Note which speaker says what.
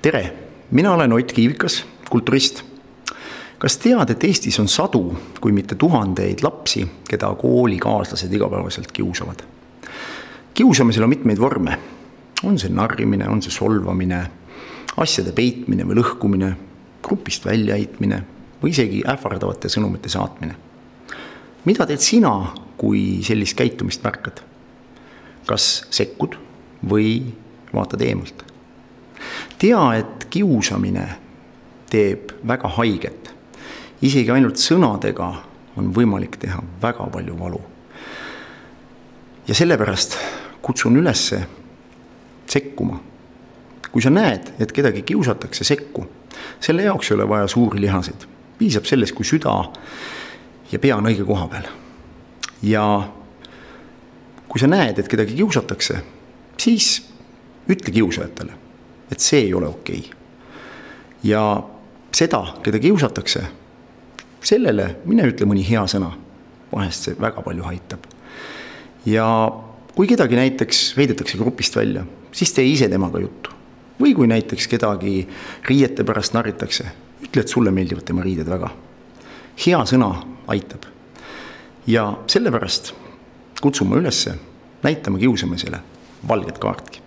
Speaker 1: Tere, mina olen Ott Kiivikas, kulturist. Kas tead, et Eestis on sadu, kui mitte tuhandeid lapsi, keda koolikaaslased igapäevaselt kiusavad? Kiusamisel on mitmeid vorme. On see narrimine, on see solvamine, asjade peitmine või lõhkumine, grupist väljaheitmine või isegi ähvardavate sõnumite saatmine. Mida teed sina, kui sellist käitumist märkad? Kas sekkud või vaatad eemalt? Tea, et kiusamine teeb väga haiget. Isegi ainult sõnadega on võimalik teha väga palju valu. Ja sellepärast kutsun üles sekkuma. Kui sa näed, et kedagi kiusatakse, sekku. Selle jaoks ei ole vaja suuri lihaseid. Piisab sellest, kui süda ja pea on õige koha peal. Ja kui sa näed, et kedagi kiusatakse, siis ütle kiusajatele, et see ei ole okei. Ja seda, keda kiusatakse, sellele mine ütle mõni hea sõna. Vahest see väga palju aitab. Ja kui kedagi näiteks heidetakse grupist välja, siis tee ise temaga juttu. Või kui näiteks kedagi riiete pärast narritakse, ütle, et sulle meeldivad tema riided väga. Hea sõna aitab. Ja sellepärast kutsume üles näitama kiusamisele valget kaartki.